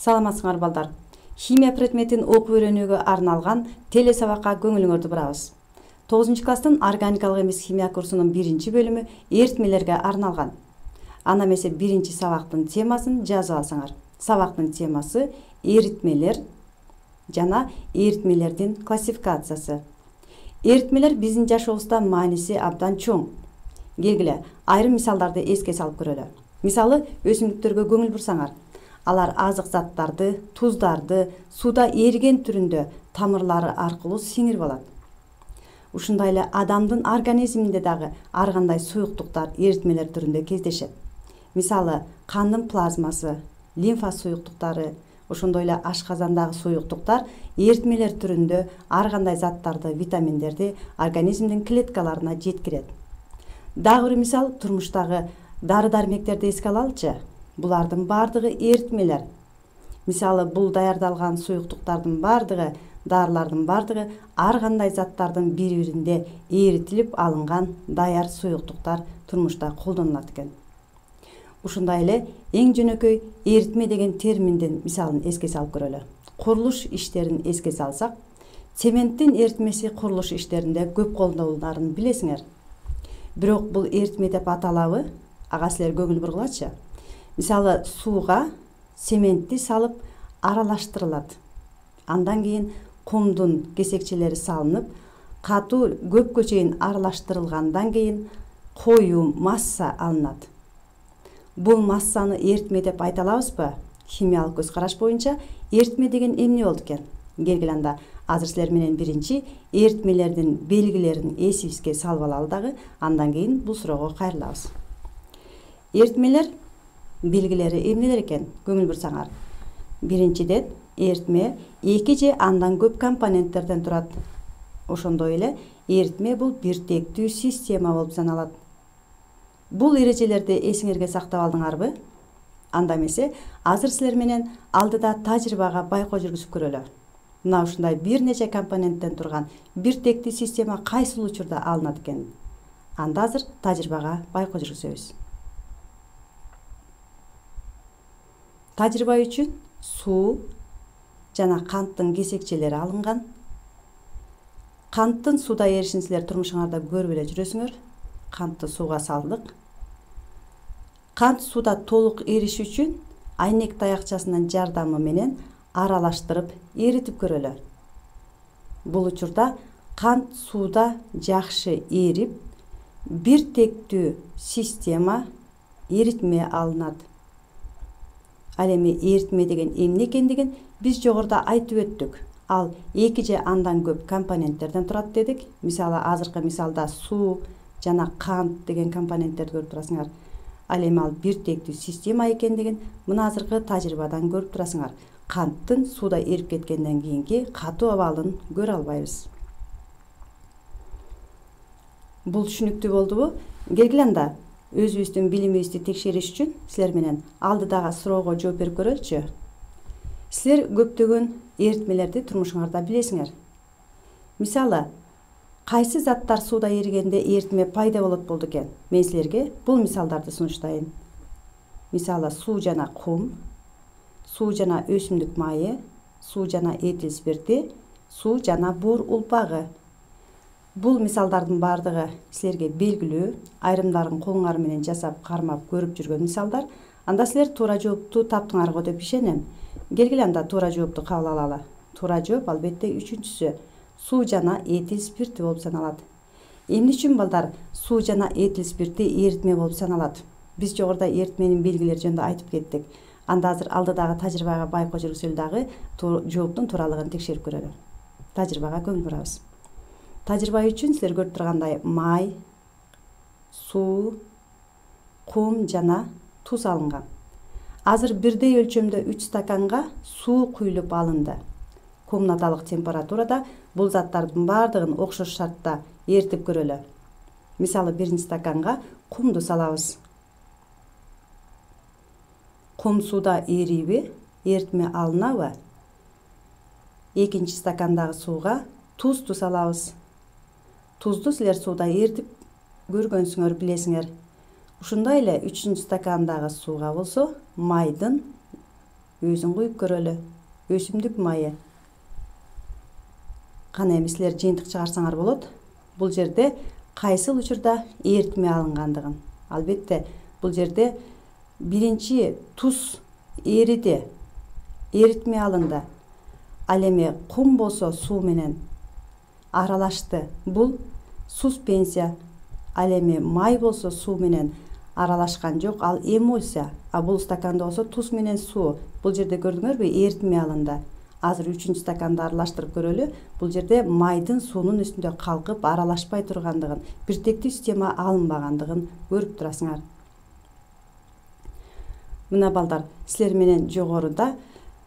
Саламатсыңар балдар. Химия предметин окуп үйрөнүүгө арналган теле сабакка көңүлүңөрдү бурабыз. 9 класстын органикалык эмес химия курсунун 1-бөлүмү эритмелерге арналган. Ана эмесе 1-сабактын темасын жазып алсаңар. Сабактын темасы эритмелер жана эритмелердин классификациясы. Эритмелер биздин жашообузда мааниси абдан чоң. Келгиле, айрым мисалдарды эске салып көрөлү. Мисалы, өсүмдүктөргө көңүл бурсаңар, алар азык заттарды, туздарды сууда эриген түрүндө тамырлары аркылуу сиңирип алат. Ушундай эле адамдын организминде дагы ар кандай суюктуктар эритмелер түрүндө кездешет. Мисалы, кандын плазмасы, лимфа суюктуктары, ошондой эле ашказандагы суюктуктар эритмелер түрүндө ар кандай заттарды, витаминдерди организмдин клеткаларына жеткирет. Дагы бир мисал турмуштагы дары-дармектерди эске алалычы. Булардын бардыгы эритмелер. Мисалы, бул даярдалган суюктуктардын бардыгы, дарылардын бардыгы ар кандай заттардын бири-биринде эритилип алынган даяр суюктуктар турмушта колдонулат экен. Ушундай эле эң жөнөкөй эритме деген терминдин мисалын эске салып көрөлү. Курулуш иштерин эске салсак, цементтин эритмеси курулуш иштеринде көп колдонуларын билесиңер. Бирок бул эритме деп аталабы? Ага силер көңүл бургулачы. Мисалы, сууга цементти салып аралаштырылат. Андан кийин кумдун кесекчелери салынып, катуу көпкө чейин аралаштырылгандан кийин коюу масса алынат. Бул массаны эритме деп айта алабызбы? Химиялык көз караш боюнча эритме деген эмне болду экен? Келгиле анда азыр силер менен биринчи эритмелердин белгилерин эсибизге салып алалы дагы, андан кийин бул суроого кайрылабыз. Эритмелер белгилери эмнелер экен? Көңүл бурсаңар. Биринчиден, эритме 2 же андан көп компоненттерден турат. Ошондой эле эритме бул бир тектүү система болуп саналат. Бул эрежелерди эсиңерге сактап алдыңарбы? Анда эмесе, азыр силер менен алдыда тажрыйбага байкоо жүргүзүп көрөлү. Мына ушундай бир нече компоненттен турган бир тектүү система кайсыл учурда алынат экен? Анда азыр тажрыйбага байкоо жүргүзөбүз. Тажрыйба үчүн суу жана канттын кесекчелери алынган. Канттын сууда эришин силер турмушуңарда көрүп эле жүрөсүңөр. Кантты сууга салдык. Кант сууда толук эриш үчүн айнек таякчасынын жардамы менен аралаштырып эритип көрөлү. Бул учурда кант сууда жакшы эрип, бир тектүү система эритме алынат. Ал эми эритме деген эмне экендигин биз жогоруда айтып өттүк. Ал 2 же андан көп компоненттерден турат дедик. Мисалы, азыркы мисалда суу жана кант деген компоненттерди көрүп турасыңар. Ал эми ал бир тектүү система экендигин мына азыркы тажрыйбадан көрүп турасыңар. Канттын сууда эрип кеткенден кийинки катуу абалын көрө албайбыз. Бул түшүнүктүү болдубу? Келгиле анда өзүбүздүн билимибизди текшериш үчүн силер менен алдыдагы суроого жооп берип көрөлүчү. Силер көптөгөн эритмелерди турмушуңарда билесиңер. Мисалы, кайсы заттар сууда эригенде эритме пайда болот экен? Мен силерге бул мисалдарды сунуштайын. Мисалы, суу жана кум, суу жана өсүмдүк майы, суу жана этил спирти, суу жана буур улпагы. Бул мисалдардын бардыгы силерге белгилүү, айрымдарын колуңар менен жасап кармап көрүп жүргөн мисалдар. Анда силер туура жоопту таптыңар го деп ишенем. Келгиле анда туура жоопту кабыл алалы. Туура жооп албетте 3-сү. Суу жана этил спирти болуп саналат. Эмне үчүн балдар суу жана этил спирти эритме болуп саналат? Биз жогоруда эритменин белгилери жөнүндө айтып кеттик. Анда азыр алдыдагы тажрыйбага байкоо жүргүзөлү дагы жооптун тууралыгын текшерип көрөлү. Тажрыйбага көңүл бурабыз. Тажрыйба үчүн силер көрүп тургандай май, суу, кум жана туз алынган. Азыр бирдей өлчөмдө 3 стаканга суу куюлуп алынды. Комнаталык температурада бул заттардын бардыгын окшош шартта эритип көрөлү. Мисалы, 1 стаканга кумду салабыз. Кум сууда эриби, эритме алынабы? 2 стакандагы сууга тузду салабыз. Тузду силер сууда эритип көргөнсүңөр, билесиңер. Ушундай эле 3 стакандагы сууга болсо майдын өзүн куюп көрөлү. Өсүмдүк майы. Кана эми силер жыйынтык чыгарсаңар болот. Бул жерде кайсыл учурда эритме алынгандыгын. Албетте, бул жерде биринчи туз эриди, эритме алынды. Ал эми кум болсо суу менен аралашты. Бул суспенсия. Ал эми май болсо суу менен аралашкан жок, ал эмульсия. А бул стаканда болсо туз менен суу. Бул жерде көрдүңөрбү, эритме алынды. Азыр 3-чү стаканды аралаштырып көрөлү. Бул жерде майдын суунун үстүндө калкып аралашпай тургандыгын, биртектүү система алынбагандыгын көрүп турасыңар. Мына балдар, силер менен жогоруда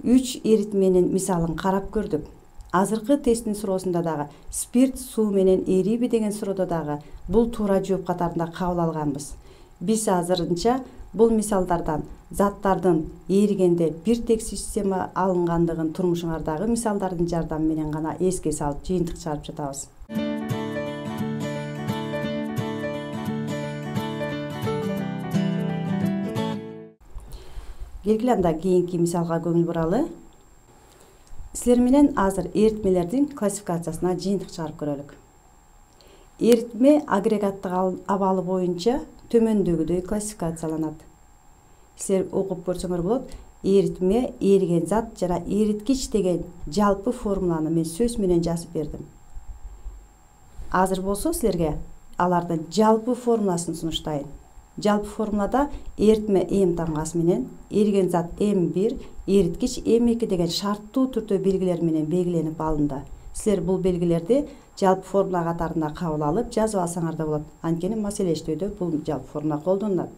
3 эритменин мисалын карап көрдүк. Азыркы тесттин суроосунда дагы спирт суу менен эриби деген суроодо дагы бул туура жооп катарында кабыл алганбыз. Биз азырынча бул мисалдардан заттардын эригенде биртексүү система алынгандыгын турмушуңардагы мисалдардын жардамы менен гана эске салып жыйынтык чыгарып жатабыз. Келгиле анда кийинки мисалга көңүл буралы. Силер менен азыр эритмелердин классификациясына жыйынтык чыгарып көрөлүк. Эритме агрегаттык абалы боюнча төмөндөгүдөй классификацияланат. Силер окуп көрсөңөр болот. Эритме, эриген зат жана эриткич деген жалпы формуланы мен сөз менен жазып бердим. Азыр болсо силерге алардын жалпы формуласын сунуштайын. Жалпы формулада эритме М тамгасы менен, эриген зат М1, эриткич М2 деген шарттуу түрдө белгилер менен белгиленип алынды. Силер бул белгилерди жалпы формула катарында кабыл алып жазып алсаңар да болот. Анткени маселештөөдө бул жалпы формула колдонулат.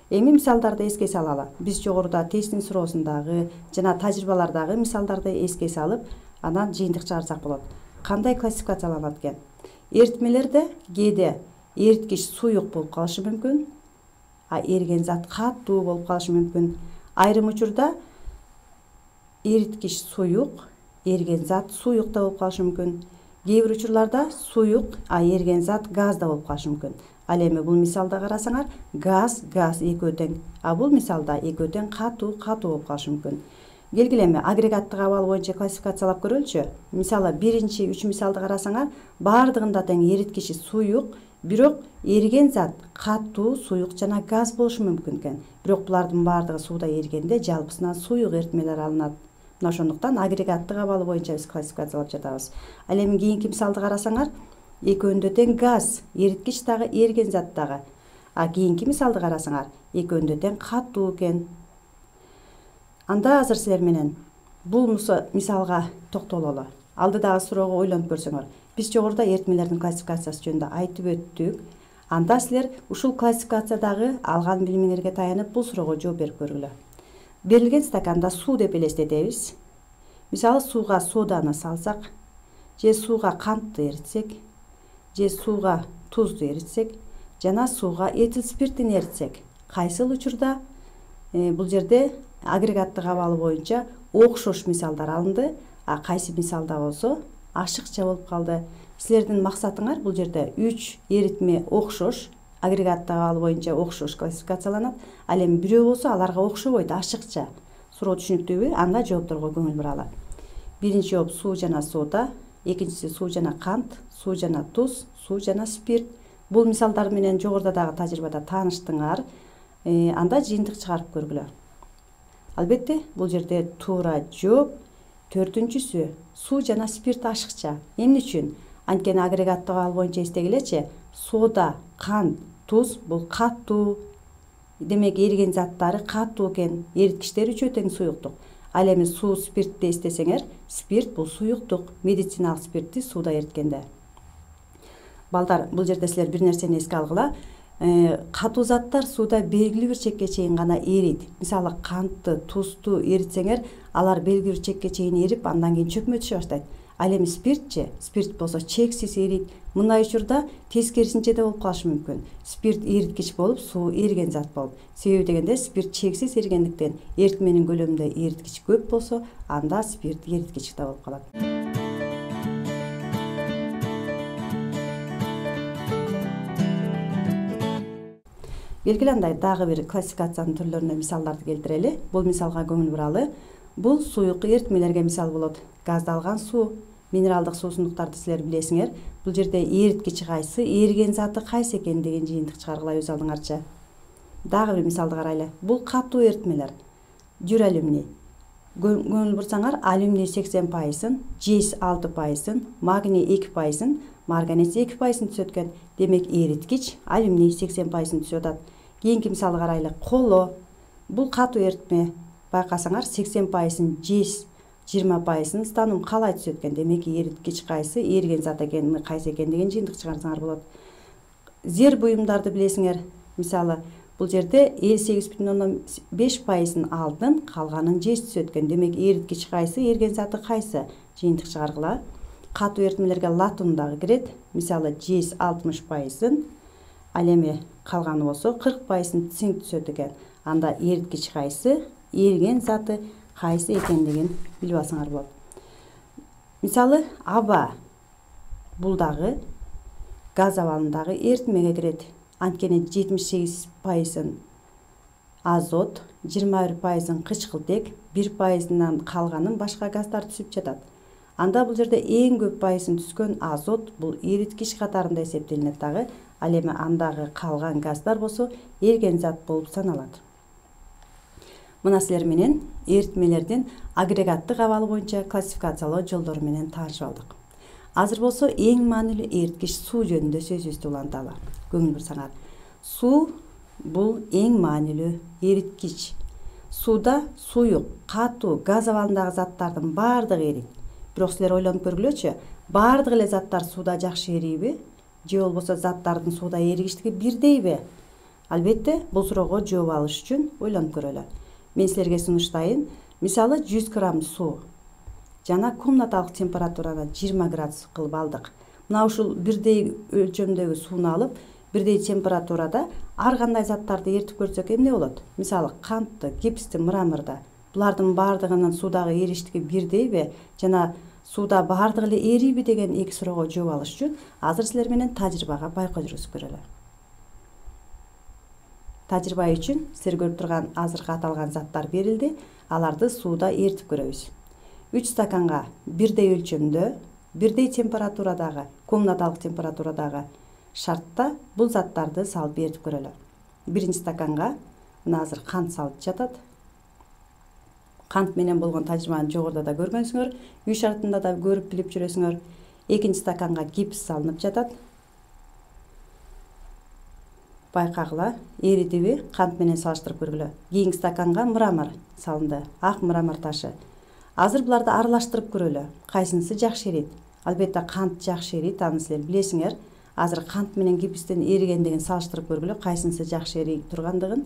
Эми мисалдарды эске салалы. Биз жогоруда тесттин суроосундагы жана тажрыйбалардагы мисалдарды эске салып, анан жыйынтык чыгарсак болот. Кандай классификацияланат экен? Эритмелерде кээде эриткич суюк болуп калышы мүмкүн, а эриген зат катуу болуп калышы мүмкүн. Айрым учурда эриткич суюк, эриген зат суюк да болуп калышы мүмкүн. Кээ бир учурларда суюк, а эриген зат газ да болуп калышы мүмкүн. Ал эми бул мисалда карасаңар, газ экөө тең, а бул мисалда экөө тең катуу болуп калышы мүмкүн. Келгиле эми агрегаттык абал боюнча классификациялап көрөлүчү. Мисалы биринчи 3 мисалды карасаңар, баардыгында тең эриткичи суюк, бирок эриген зат катуу, суюк жана газ болушу мүмкүн экен. Бирок булардын баардыгы сууда эригенде жалпысынан суюк эритмелер алынат. Мына ошондуктан агрегаттык абалы боюнча биз классификациялап жатабыз. Ал эми кийинки мисалды карасаңар, экөөндө тең газ, эриткич дагы, эриген зат дагы. А кийинки мисалды карасаңар, экөөндө тең катуу экен. Анда азыр силер менен бул мисалга токтололу. Алдыдагы суроого ойлонуп көрсөңөр. Биз жогоруда эритмелердин классификациясы жөнүндө айтып өттүк. Анда силер ушул классификациядагы алган билимиңерге таянып бул суроого жооп берип көргүлө. Берилген стаканда суу деп элестетебиз. Мисалы сууга соданы салсак, же сууга кантты эритсек, же сууга тузду эритсек, жана сууга этил спиртин эритсек, кайсыл учурда бул жерде агрегаттык абалы боюнча окшош мисалдар алынды, а кайсы мисалда болсо ашыкча болуп калды. Силердин максатыңар бул жерде 3 эритме окшош, агрегаттык абалы боюнча окшош классификацияланат. Ал эми бирөө болсо аларга окшобойт, ашыкча. Суроо түшүнүктүүбү? Анда жоопторго көңүл буралы. Биринчи жооп суу жана сода, экинчиси суу жана кант, суу жана туз, суу жана спирт. Бул мисалдар менен жогоруда дагы тажрыйбада тааныштыңар. Анда жыйынтык чыгарып көргүлө. Албетте, бул жерде туура жооп 4-сү суу жана спирт ашыкча. Эмне үчүн? Анткени агрегаттык абал боюнча эстегилечи, сода, кант, туз бул катуу. Демек эриген заттары катуу экен, эриткичтер үчөө тең суюктук. Ал эми суу, спиртти эстесеңер, спирт бул суюктук, медициналык спиртти сууда эриткенде. Балдар, бул жерде силер бир нерсени эске алгыла. Катуу заттар сууда белгилүү бир чекке чейин гана эрийт. Мисалы кантты, тузду эритсеңер, алар белгилүү бир чекке чейин эрип, андан кийин чөкмө түшө баштайт. Ал эми спирт болсо чексиз эрийт. Мындай учурда тескерисинче да болуп калышы мүмкүн. Спирт эриткич болуп, суу эриген зат болуп. Себеби дегенде спирт чексиз эригендиктен эритменин көлөмүндө эриткич көп болсо, анда спирт эриткич да болуп калат. Белгиле дагы бир классификациянын түрлөрүнө мисалдарды келтирели. Бул мисалга көңүл буралы. Бул суюк эритмелерге мисал болот. Газдалган суу, минералдык суусундуктарды силер билесиңер. Бул жерде эриткич кайсы, эриген заты кайсы экендигин жыйынтык чыгаргыла өз алдыңарча. Дагы бир мисалды карайлы. Бул катуу эритмелер. Жүр алюминий. Көңүл бурсаңар, алюминий 80%, жез 6%, магний 2%, марганец 2% түшөт экен. Демек эриткич алюминий 80% түшүп атат. Кийинки мисалды карайлы. Коло. Бул катуу эритме. Байкасаңар 80% жез, 20% станум калай түшөт экен. Демек эриткич кайсы, эриген зат экени кайсы экендигин жыйынтык чыгарсаңар болот. Зер буюмдарды билесиңер. Мисалы, бул жерде 58,5% алтын, калганын жез түшөт экен. Демек эриткич кайсы, эриген заты кайсы жыйынтык чыгаргыла. Катуу эритмелерге латун дагы кирет. Мисалы, жез 60%, ал эми калганы болсо 40% цинк түшөт экен. Анда эриткич кайсы, эриген заты кайсы экендигин билип алсаңар болот. Мисалы, аба. Бул дагы газ абалындагы эритмеге кирет. Анткени 78% азот, 21% кычкылтек, 1%нан калганын башка газдар түшүп жатат. Анда бул жерде эң көп пайызын түскөн азот бул эриткич катарында эсептелинет дагы. Ал эми андагы калган газдар болсо эриген зат болуп саналат. Мына силер менен эритмелердин агрегаттык абалы боюнча классификациялоо жолдору менен таанышып алдык. Азыр болсо эң маанилүү эриткич суу жөнүндө сөзүбүздү уланталы. Көңүл бурсаңар. Суу бул эң маанилүү эриткич. Сууда суюк, катуу, газ абалындагы заттардын баардыгы эрийт. Бирок силер ойлонуп көргүлөчү, баардык эле заттар сууда жакшы эрийби? Же болбосо заттардын сууда эригиштиги бирдейби? Албетте, бул суроого жооп алыш үчүн ойлонуп көрөлү. Мен силерге сунуштайын. Мисалы, 100 грамм суу жана комнаталык температураны 20 градус кылып алдык. Мына ушул бирдей өлчөмдөгү сууну алып, бирдей температурада ар кандай заттарды эритип көрсөк эмне болот? Мисалы, кантты, гипсти, мраморду. Булардын баардыгынын суудагы эриштиги бирдейби? Жана сууда баардыгы эле эрийби деген эки суроого жооп алыш үчүн азыр силер менен тажрыйбага байкоо жүргүзүп көрөлү. Тажрыйба үчүн силер көрүп турган азыркы аталган заттар берилди. Аларды сууда эритип көрөбүз. 3 стаканга бирдей өлчөмдө, бирдей температурадагы, комнаталык температурадагы шартта бул заттарды салып эритип көрөлү. Биринчи стаканга мына азыр кант салып жатат. Кант менен болгон тажрыйбаны жогоруда да көргөнсүңөр, үй шартында да көрүп билип жүрөсүңөр. Экинчи стаканга гипс салынып жатат. Байкагыла, эридиби, кант менен салыштырып көргүлө. Кийинки стаканга мрамор салынды, ак мрамор ташы. Азыр буларды аралаштырып көрөлү. Кайсынысы жакшы эрийт? Албетте кант жакшы эрийт, аны силер билесиңер. Азыр кант менен гипстин эригендигин салыштырып көргүлө, кайсынысы жакшы эрип тургандыгын.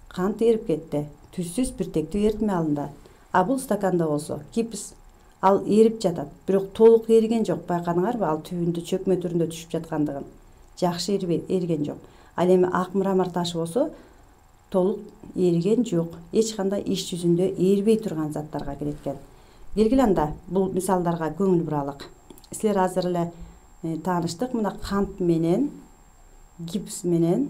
Кант эрип кетти. Түзсүз биртектүү эритме алынды. А бул стаканда болсо гипс ал эрип жатат, бирок толук эриген жок. Байкадыңарбы? Ал түбүндө чөкмө түрүндө түшүп жаткандыгын. Жакшы эриген жок. Ал эми ак мрамор ташы болсо толук эриген жок. Эч кандай иш жүзүндө эрибей турган заттарга кирет экен. Белгиле анда бул мисалдарга көңүл буралык. Силер азыр эле тааныштык. Мына кант менен, гипс менен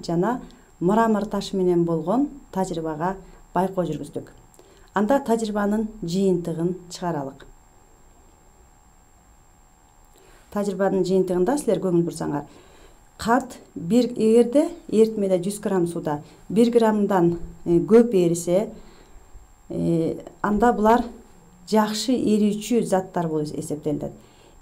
жана мрамор ташы менен болгон тажрыйбага байкоо жүргүздүк. Анда тажрыйбанын жыйынтыгын чыгаралык. Тажрыйбанын жыйынтыгында силер көңүл бурсаңар, кант эгерде эритмеде 100 грамм сууда 1 граммдан көп эрисе, анда булар жакшы эрүүчү заттар болуп эсептелет.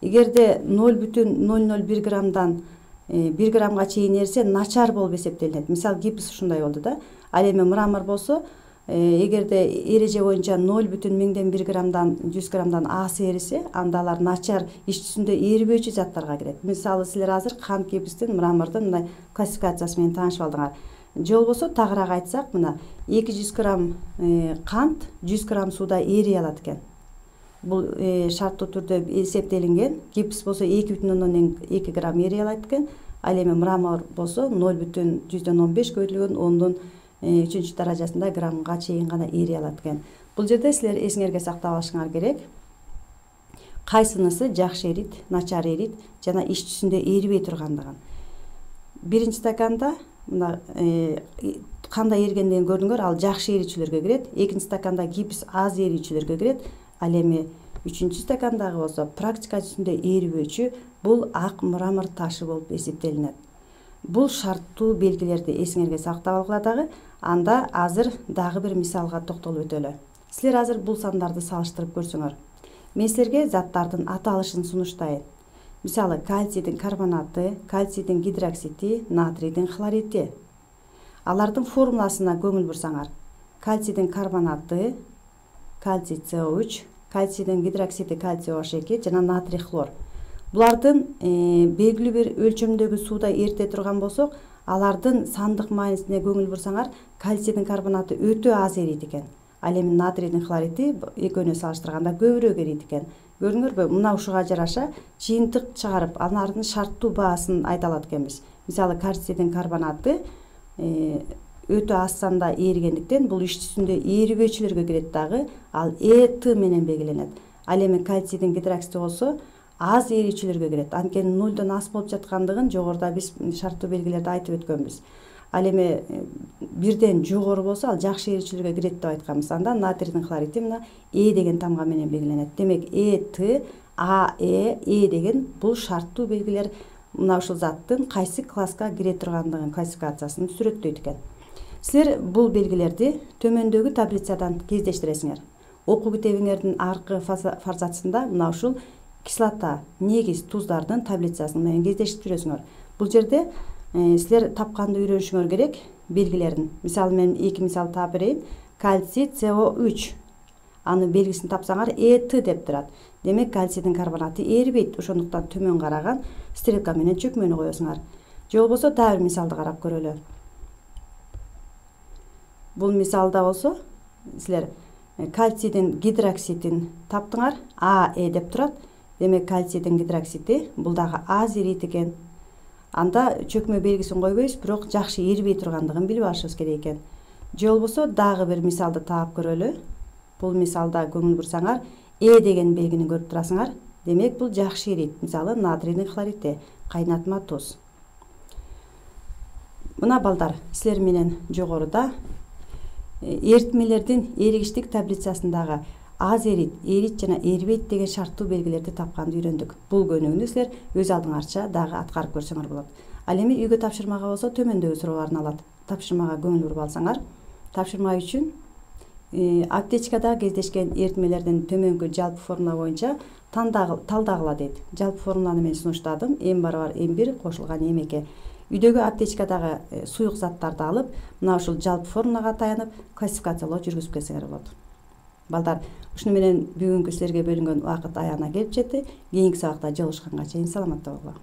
Эгерде 0,001 граммдан 1 граммга чейин эрисе, начар болуп эсептелет. Мисалы, гипс ушундай болду да. Ал эми мрамор болсо, эгерде эреже боюнча 0,1 граммдан 100 граммдан аз эрисе, анда алар начар иш жүзүндө эрибөөчү заттарга кирет. Мисалы, силер азыр кант, гипстин, мрамордун мындай классификациясы менен таанышып алдыңар. Же болбосо тагыраак айтсак, мына 200 грамм кант 100 грамм сууда эрий алат экен. Бул шарттуу түрдө эсептелинген. Гипс болсо 2,2 грамм эрий алат экен. Ал эми мрамор болсо 0,115 көбөйтүлгөн 10-3 даражасында граммга чейин гана эрий алат экен. Бул жерде силер эсиңерге сактап алышыңар керек. Кайсынысы жакшы эрийт, начар эрийт жана иш жүзүндө эрибей тургандыгын. биринчи стаканда мына кандай эригендигин көрдүңөр, ал жакшы эричүлөргө кирет. Экинчи стаканда гипс аз эричүлөргө кирет. Ал эми үчүнчү стакандагы болсо практика жүзүндө эрибөөчү, бул ак мрамор ташы болуп эсептелинет. Бул шарттуу белгилерди эсиңерге сактап алгыла дагы. Анда азыр дагы бир мисалга токтолуп өтөлү. Силер азыр бул сандарды салыштырып көрсөңөр. Мен силерге заттардын аталышын сунуштайын. Мисалы, кальцийдин карбонаты, кальцийдин гидроксиди, натрийдин хлориди. Алардын формуласына көңүл бурсаңар, кальцийдин карбонаты кальций СО3, кальцийдин гидроксиди кальций OH2 жана натрий хлор. Булардын белгилүү бир өлчөмдөгү сууда эрите турган болсок, алардын сандык маанисине көңүл бурсаңар, кальцийдин карбонаты өтө аз эрийт экен. Ал эми натрийдин хлориди экөөнө салыштырганда көбүрөөк эрийт экен. Көрдүңөрбү? Мына ушуга жараша жыйынтык чыгарып, алардын шарттуу баасын айта алат экенбиз. Мисалы, кальцийдин карбонаты өтө аз санда эригендиктен бул иш жүзүндө эрибөөчүлөргө кирет дагы, ал ЭТ менен белгиленет. Ал эми кальцийдин гидроксиди болсо аз эричүлөргө кирет. Анткени 0дон аз болуп жаткандыгын жогоруда биз шарттуу белгилерди айтып өткөнбүз. Ал эми 1ден жогору болсо ал жакшы эричүлөргө кирет деп айтканбыз. Анда натрийдин хлориди мына Е деген тамга менен белгиленет. Демек ЭТ, АЭ, Е деген бул шарттуу белгилер мына ушул заттын кайсы класска кире тургандыгын классификациясын сүрөттөйт экен. Силер бул белгилерди төмөндөгү таблицадан кездештиресиңер. Окуу китебиңердин аркы фарзатысында мына ушул кислота, негиз туздардын таблицасын менен кездештирип жүрөсүңөр. Бул жерде силер тапканды үйрөнүшүңөр керек белгилерин. Мисалы, мен 2 мисал таап берейин. Кальций СО3. Аны белгисин тапсаңар ЭТ деп турат. Демек кальцийдин карбонаты эрибейт. Ошондуктан төмөн караган стрелка менен чөкмөнү коесуңар. Же болбосо дагы бир мисалды карап көрөлү. Бул мисалда болсо силер кальцийдин гидроксидин таптыңар. АЭ деп турат. Демек кальцийдин гидроксиди бул дагы аз эрийт экен. Анда чөкмө белгисин койбойбуз, бирок жакшы эрибей тургандыгын билип алышыбыз керек экен. Же болбосо дагы бир мисалды таап көрөлү. Бул мисалда көңүл бурсаңар, Е деген белгини көрүп турасыңар. Демек бул жакшы эрийт. Мисалы, натрийдин хлориди, кайнатма туз. Мына балдар, силер менен жогоруда эритмелердин эригиштик таблицасындагы аз эрийт жана эрибейт деген шарттуу белгилерди тапканды үйрөндүк. Бул көнүгүүнү силер өз алдыңарча дагы аткарып көрсөңөр болот. Ал эми үйгө тапшырмага болсо төмөндөгү суроолорун алат. Тапшырмага көңүл буруп алсаңар, тапшырма үчүн аптечкада кездешкен эритмелердин төмөнкү жалпы формула боюнча талдагыла дейт. Жалпы формуланы мен сунуштадым. М=М1 кошулган М2. Үйдөгү аптечкадагы суюк заттарды алып, мына ушул жалпы формулага таянып, классификациялоо жүргүзүп келсеңер болот. Балдар, ушуну менен бүгүнкү силерге бөлүнгөн убакыт аягына келип жетти. Кийинки сабакта жолугушканга чейин саламатта болгула.